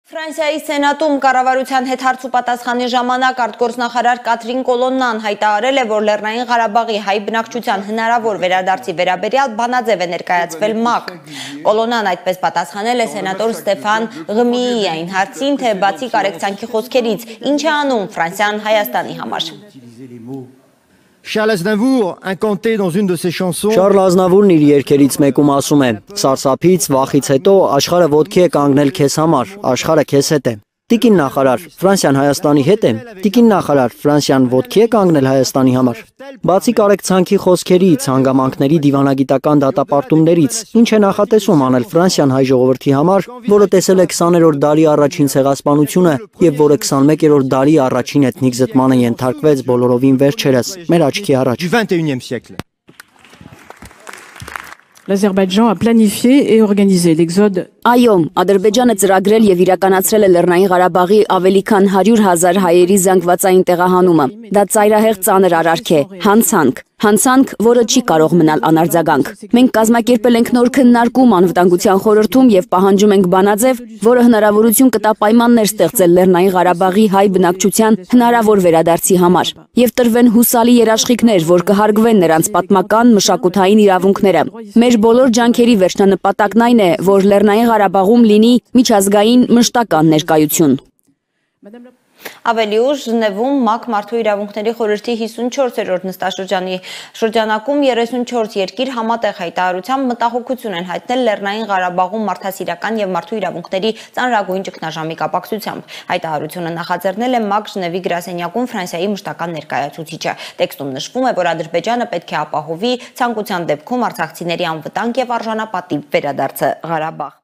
Ֆրանսիայի սենատում կառավարության հետ հարց ու պատասխանի ժամանակ արտգործնախարար Կատրին Կոլոննան հայտարարել է, որ Լեռնային Ղարաբաղի հայ բնակչության հնարավոր վերադարձի վերաբերյալ բանաձև է ներկայացվել ՄԱԿ։ Կոլոննան այդպես պատասխանել է սենատոր Ստեֆան Ղմիի այն հարցին, թե բացի կարեկցանքի խոսքերից, ինչ է անում Ֆրանսիան Հայաստանի համար։ Charles Aznavour, incanté dans une de ses chansons. Շարլ Ազնավուրն իր երգերից մեկում ասում է. «Սարսափից, վախից հետո աշխարհը ոտքի է կանգնել քեզ համար, աշխարհը քեզ հետ է»։ Տիկին նախարար, Ֆրանսիան Հայաստանի հետ է։ Տիկին նախարար, Ֆրանսիան ոտքի է կանգնել Հայաստանի համար։ Բացի կարեկցանքի խոսքերից, հանգամանքների դիվանագիտական դատապարտումներից, ինչ է նախատեսում անել Ֆրանսիան հայ ժողովրդի համար, որը տեսել է 20-րդ դարի առաջին ցեղասպանությունը եւ որը 21-րդ դարի առաջին էթնիկ զտմանը ենթարկվեց բոլորովին վերջերս, մեր աչքի առաջ։ Du 21e siècle. L'Azerbaïdjan a planifié et organisé l'exode. Այո, Ադրբեջանը ծրագրել եւ իրականացրել է Լեռնային Ղարաբաղի ավելի քան 100,000 հայերի զանգվածային տեղահանումը։ Դա ծայրահեղ ծանր արարք է, հանցանք, որը չի կարող մնալ անարձագանք։ Մենք կազմակերպել ենք նոր քննարկում Անվտանգության խորհրդում եւ պահանջում ենք բանաձև, որը հնարավորություն կտա պայմաններ ստեղծել Լեռնային Ղարաբաղի հայ բնակչության հնարավոր վերադարձի համար եւ տրվեն հուսալի երաշխիքներ, որ կհարգվեն նրանց պատմական մշակութային իրավունքները։ Մեր բոլոր ջանքերի վերջնանպատակն այն է, որ Լեռնային Ղարաբաղում լինի միջազգային մշտական ներկայություն։ Ավելի ուշ Ժնևում ՄԱԿ Մարդու իրավունքների խորհրդի 54-րդ նստաշրջանի շրջանակում 34 երկիր համատեղ հայտարարությամբ մտահոգություն են հայտնել Լեռնային Ղարաբաղում մարդասիրական եւ մարդու իրավունքների ծանրագույն ճգնաժամի կապակցությամբ։ Հայտարարությունը նախաձեռնել է ՄԱԿ Ժնևի գրասենյակում Ֆրանսիայի մշտական ներկայացուցիչը։ Տեքստում նշվում է, որ Ադրբեջանը պետք է ապահովի ցանկության դեպքում արցախցիների անվտանգ եւ արժանապատիվ վերադարձը Ղարաբաղ։